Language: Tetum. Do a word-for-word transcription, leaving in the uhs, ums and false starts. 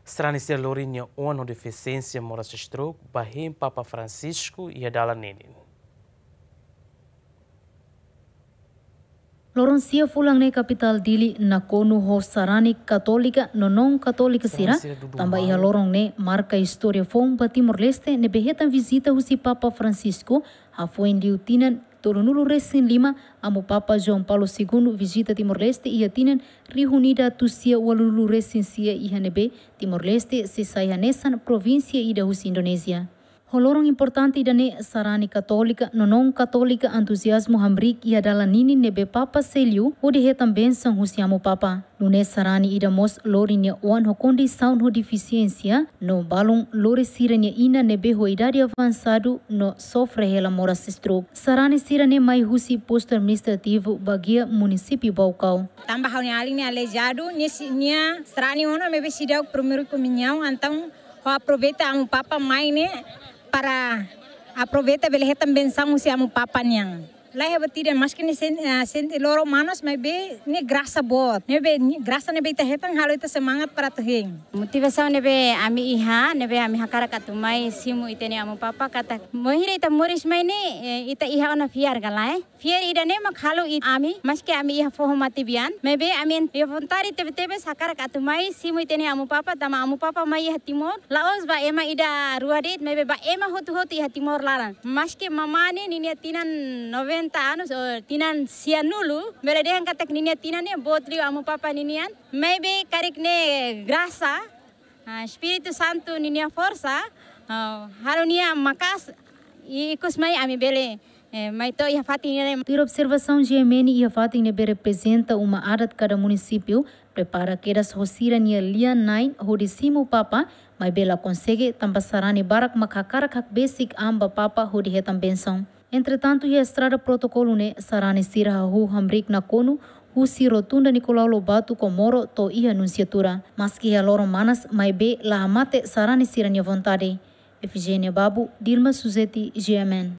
Sarani sira lori nia oan ho defisiénsia moras stroke ba hein Papa Francisco iha dalan ninin. Loron sia fulan ne'e kapitál Dili nakonu ho sarani katólika no non katólika sira, tanba iha loron ne'e marka istória foun ba Timor-Leste ne'ebé hetan vizita husi Papa Francisco, hafoin liu tinan tolunulu resin lima, Amu Papa João Paulo Segundo vizita Timor-Leste iha tinan rihun ida atus sia ualunulu resin sia iha ne'ebé Timor-Leste sei sai hanesan provínsia ida husi Indonézia. Ho loron importante ida-ne'e sarani katólika no non katólika entuziazmu hamriik iha dalan ninin ne'ebé Papa sei liu hodi hetan bensaun husi Amu Papa. Nune'e sarani ida mós lori nia oan ho kondisaun ho defisiénsia no balun lori sira-nia inan ne'ebé ho idade avansadu no sofre hela moras stroke. Sarani sira-ne'e mai husi Postu Administrativu Baguia, Munisípiu Baucau. Tanba ha'u-nia alin ne'e aleijadu, nia si-, nia sarani ona maibé seidauk primeiru komuñaun, entaun ha'u aproveita Amu Papa mai ne'e para aproveita bele hetan bensaun husi Amu Papa nian. Laiha buat ida, maski nia sen-, ah, sente loron manas, maibé ne'e grasa boot. Ne'ebé, ne'e grasa ne'ebé ita hetan halo ita semangat para atu hein. Motivasaun ne'ebé ami iha, ne'ebé ami hakarak atu mai simu ita-nia Amu Papa katak bainhira ita moris mai ne'e, eh, ita iha ona fiar ka lae. Fiar ida-ne'e mak halo it-, ami, maski ami iha foho matebian, maibé ami iha vontade tebe-tebes hakarak atu mai simu ita-nia Amu Papa, tanba Amu Papa mai iha Timor la'ós ba ema ida rua de'it, maibé ba ema hotu-hotu iha Timor laran. Maski mamá ne'e ninia tinan noventa anos, ou tinan sianulu, bele dehan katak ninia tinan ne'e boot liu Amu Papa ninian, maibé karik ne'e grasa, ah, Espíritu Santu ninia forsa, ah, halo nia maka'as i ikus mai ami bele, eh, mai to'o iha fatin ne'e. Tuir observasaun G M N, iha fatin ne'ebé reprezenta uma adat kada munisípiu, prepara kedas ho sira-nia lian-na'in hodi simu Papa, maibé la konsege tanba sarani barak mak hakarak hakbesik an ba Papa hodi hetan bensaun. Entretantu, iha estrada protokolu ne'e, sarani sira hahú hamriik nakonu husi Rotunda Nicolau Lobato Comoro to'o iha Nunciatura. Maski iha loron manas, maibé la hamate sarani sira-nia vontade. Efigénia Babu, Dilma Suzeti, G M N.